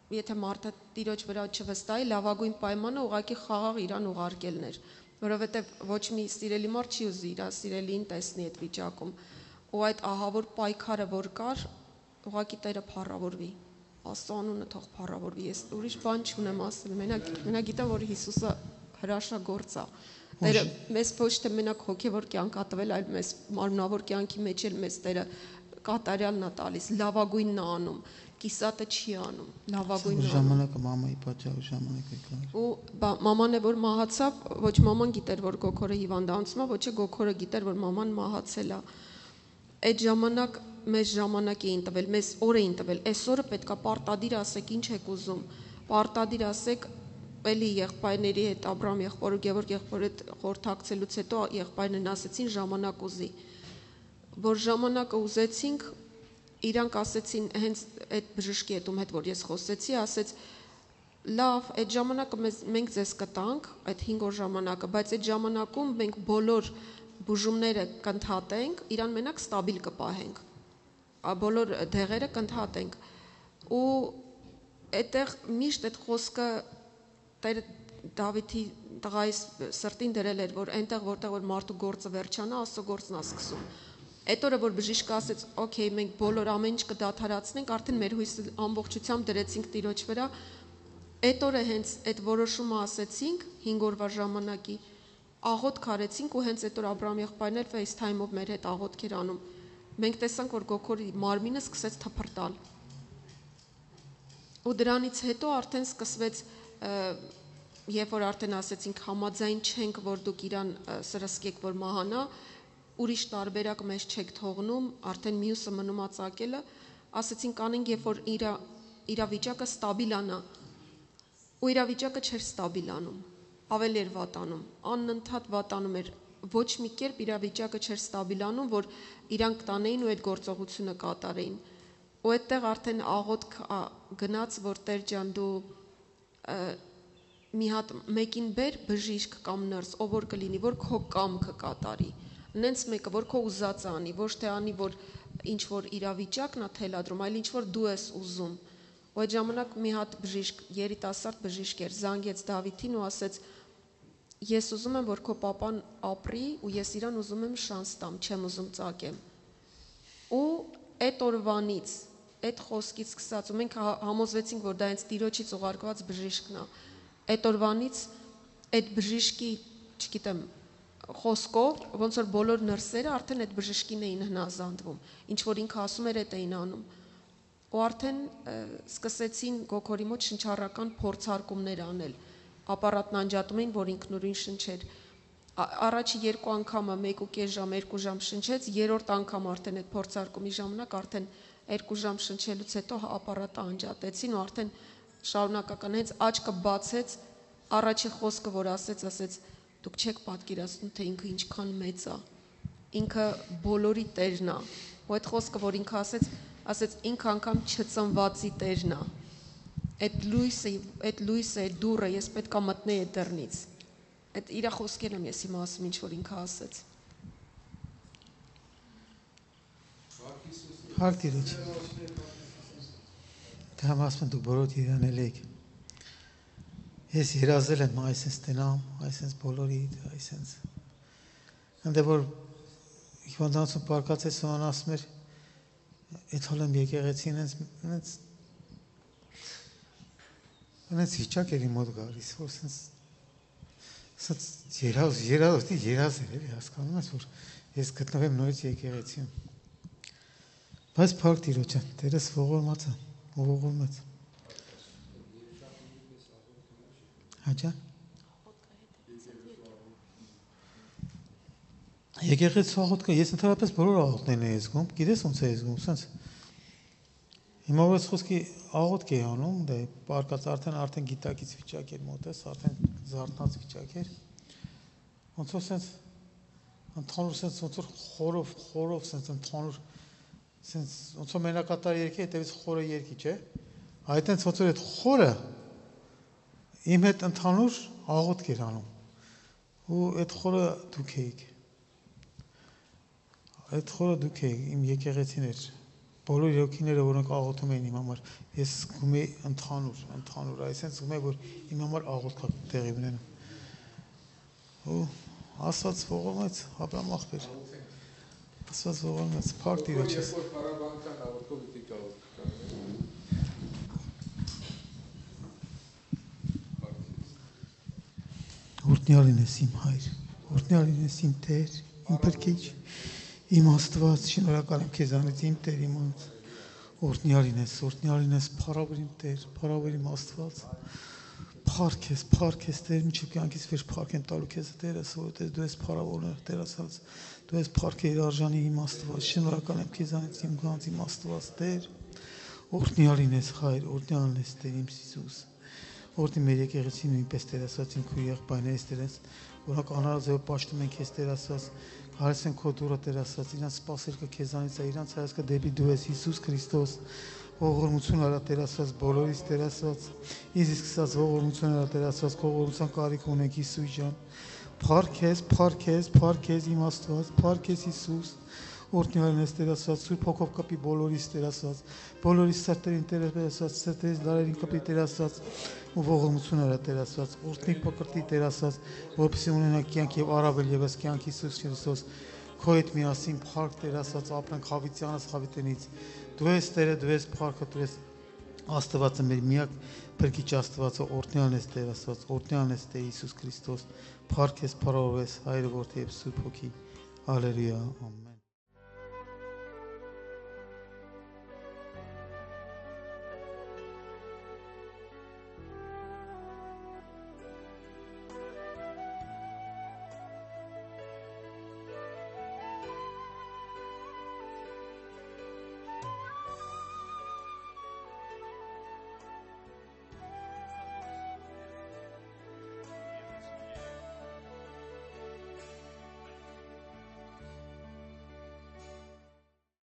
եթե մարդը տիրոջ վրա չվստահի, լավագույն պայմանը ուղղակի խաղաղ իրան ուղարկելն էր, որովհետև ոչ մի սիրելի մարդ չի ուզի իր սիրելին տեսնի այդ վիճակում։ Ու այդ ահավոր պայքարը որ կար, ուղղակի Տերը փառավորվի։ Աստծո անունը թող փառավորվի։ Ես ուրիշ բան չունեմ ասել։ Մենակ մենակ գիտեմ, որ Հիսուսը հրաշագործ է։ Տերը մեզ ոչ թե մենակ հոգևոր կյանք ա տվել, այլ մեզ մարմնավոր կյանքի մեջ էլ մեզ Տերը կատարյալն է տալիս, լավագույնն է անում, կիսատը չի անում, լավագույնն է անում։ Ժամանակը մամայի պատճառով ժամանակ եկավ։ Ու մաման է որ մահացավ, ոչ մաման գիտեր, որ Գոքորը հիվանդանոցում է, ոչ է Գոքորը գիտեր, որ մաման մահացել է։ Այդ ժամանակ մեզ ժամանակ էին տվել, մեզ օր էին տվել, այսօրը պետքա պարտադիր ասեք ինչ եք ուզում, պարտադիր ասեք էլի եղբայրների հետ Աբրահամ եղբոր ու Գևորգ եղբոր հետ խորհրդակցելուց հետո եղբայրներն ասեցին ժամանակ ուզի, որ ժամանակը ուզեցինք, իրանք ասեցին հենց այդ բժշկի հետ ում հետ որ ես խոսեցի, ասեց լավ, այդ ժամանակը մեզ, մենք ձեզ կտանք, այդ հինգ օր ժամանակը, բայց այդ ժամանակում մենք բոլոր բուժումները կընդհատենք, իրան մենակ ստաբիլ կպահենք, բոլոր դեղերը կընդհատենք, ու այդտեղ միշտ այդ խոսքը Տերը Դավիթի տղայիս սրտին դրել էր, որ այնտեղ որտեղ որ մարդու գործը վերջանա, Աստծո գործն է սկսում։ Այդ օրը որ բժիշկը ասեց, օքեյ, մենք բոլոր ամեն ինչ կդադարացնենք, արդեն մեր հույսը ամբողջությամբ դրեցինք Տիրոջ վրա։ Այդ օրը հենց այդ որոշումը ասեցինք հինգ օրվա ժամանակի, աղոթք արեցինք ու հենց այդ օր Աբրահամ եղբայրն էր FaceTime-ով մեր հետ աղոթք էր անում։ Մենք տեսանք, որ Գոքորի մարմինը սկսեց թփրտալ։ Ու դրանից հետո արդեն սկսվեց երբ որ արդեն ասեցինք համաձայն չենք, որ դուք իրան սրսկեք, որ մահանա, ուրիշ տարբերակ մեզ չեք թողնում, արդեն մյուսը մնում ածակելը, ասեցինք անենք, երբ որ իրա իրավիճակը ստաբիլանա, ու իրավիճակը չէր ստաբիլանում, ավելի էր վատանում, անընդհատ վատանում էր, ոչ մի կերպ իրավիճակը չէր ստաբիլանում, որ իրանք տանեին ու այդ գործողությունը կատարեին։ Ու այդտեղ արդեն աղոթք գնաց, որ Տեր ջան դու մի հատ մեկին բեր բժիշկ կամ նրս, ով որ կլինի, որ քո կամքը կատարի, նենց մեկը, որ քո ուզածը անի, ոչ թե անի, որ ինչ որ իրավիճակն է թելադրում, այլ ինչ որ դու ես ուզում։ Ու այդ ժամանակ մի հատ բժիշկ, երիտասարդ բժիշկ էր, զանգեց Դավիթին ու ասեց. ես ուզում եմ, որ քո պապան ապրի ու ես իրան ուզում եմ շանս տամ, չեմ ուզում ծակեմ։ Ու այդ օրվանից, այդ խոսքից սկսած, ու մենք համոզվեցինք, որ դա հենց Տիրոջից ուղարկված բժիշկն է։ Այդ օրվանից այդ բժիշկի, չգիտեմ, խոսքով, ոնց որ բոլոր նրսերը արդեն այդ բժշկին էին հնազանդվում, ինչ որ ինքը ասում էր, այդ էին անում։ Ու արդեն սկսեցին Գոքորի մոտ շնչառական փորձարկումներ անել, ապարատն անջատում էին, որ ինքնուրույն շնչեր։ Առաջի երկու անգամը մեկ ու կես ժամ, երկու ժամ շնչեց, երրորդ անգամ արդեն այդ փորձարկումի ժամանակ արդեն երկու ժամ շնչելուց հետո ապարատը անջատեցին ու արդեն շարունակական հենց աչքը բացեց, առաջի խոսքը որ ասեց, ասեց դուք չեք պատկերացնում, թե ինքը ինչքան մեծ է, ինքը բոլորի Տերն է։ Ու այդ խոսքը որ ինքը ասեց, ասեց ինքը անգամ չծնվածի Տերն է։ Այդ լույսը, այդ լույսը, այդ դուռը ես պետք է մտնեի այդ դռնից։ Այդ իր խոսքերն եմ ես հիմա ասում, ինչ որ ինքը ասեց։ Հարկ Տիրոջ։ Դա ասում դուք բոլոր իրանել եք։ Ես երազել եմ այսպես տենամ, այսպես բոլորի, այսպես։ Այնտեղ որ հիվանդանոցում պարկացեց սոան ասում էր, այդ հոլ եմ եկեղեցին ինձ ինձ ինձ վիճակ էր իմ մոտ գալիս, որ ինձ ինձ երազ երազ երազ էր էլի հասկանում ես, որ ես գտնվեմ նորից եկեղեցիում։ Բայց Փառք Տիրոջ, Տերս ողորմած է, ողորմած։ Հաճա։ Եկեղեցու աղոթքը, ես ընդհանրապես բոլոր աղոթքներն եմ զգում, գիտես ոնց է զգում, սենց։ Հիմա որ խոսքի աղոթք է անում, դե պարկած արդեն արդեն գիտակից վիճակ էր մոտես, արդեն զարթնած վիճակ էր։ Ոնց որ սենց ընդհանուր սենց ոնց որ խորով, խորով սենց ընդհանուր սենց ոնց որ մենակատար երկի հետևից խորը երկի, չէ՞։ Այդտենց ոնց որ այդ խորը իմ հետ ընդհանուր աղոթք էր անում։ Ու այդ խորը դուք էիք։ Այդ խորը դուք էիք, իմ եկեղեցին էր։ Բոլոր եկեղեցիները, որոնք աղոթում էին իմ համար, ես զգում էի ընդհանուր, ընդհանուր, այսինքն զգում էի, որ իմ համար աղոթք տեղի ունենում։ Ու Աստված ողորմեց Աբրահամ աղբեր։ Աստված ողորմեց, փառք Տիրոջս։ Փառաբանական աղոթքով դիք աղոթք Օրհնյալ լինես իմ հայր, օրհնյալ լինես իմ Տեր, իմ Փրկիչ, իմ Աստված, շնորհակալ եմ քեզանից իմ Տեր իմ անձ։ Օրհնյալ լինես, օրհնյալ լինես, փառավոր իմ Տեր, փառավոր իմ Աստված։ Փառք ես, փառք ես Տեր, մինչև կյանքից վեր փառք եմ տալու քեզ Տերս, որովհետև դու ես փառավորը, Տեր ասած, դու ես փառքերի արժանի իմ Աստված, շնորհակալ եմ քեզանից իմ գանձ իմ Աստված Տեր։ Օրհնյալ լինես հայր, օրհնյալ լինես Տեր իմ Հիսուս։ Որտի մեր եկեղեցին նույնպես Տեր ասած իմ քույր եղբայրներից Տերս, որոնք անհարազով պաշտում են քեզ Տեր ասած, հարես են քո դուրը Տեր ասած, իրանց սպասելքը քեզանից է, իրանց հայացքը դեպի դու ես Հիսուս Քրիստոս, ողորմություն արա Տեր ասած, բոլորից Տեր ասած, ինձ իսկ ասած ողորմություն արա Տեր ասած, քո ողորմության կարիք ունենք Հիսուս ջան։ Փառք ես, փառք ես, փառք ես իմ Աստված, փառք ես Հիսուս։ Օրհնյալ ես Տեր ասած, Սուրբ Հոգով կապի բոլորիս Տեր ասած, բոլորիս սրտերին Տեր ասած, սրտերից լարերին կապի Տեր ասած, ու ողորմություն արա Տեր ասած, օրհնի պակրտի Տեր ասած, որպեսզի ունենանք կյանք եւ առավել եւս կյանք Հիսուս Քրիստոս, քո հետ միասին փառք Տեր ասած, ապրենք հավիտյանս հավիտենից։ Դու ես Տերը, դու ես փառքը, դու ես Աստվածը մեր միակ Փրկիչ Աստվածը, օրհնյալ ես Տեր ասած, օրհնյալ ես Տեր Հիսուս Քրիստոս, փառք ես, փառավոր ես Հայր, Որդի եւ Սուրբ Հոգի։ Հալելույա, ամեն։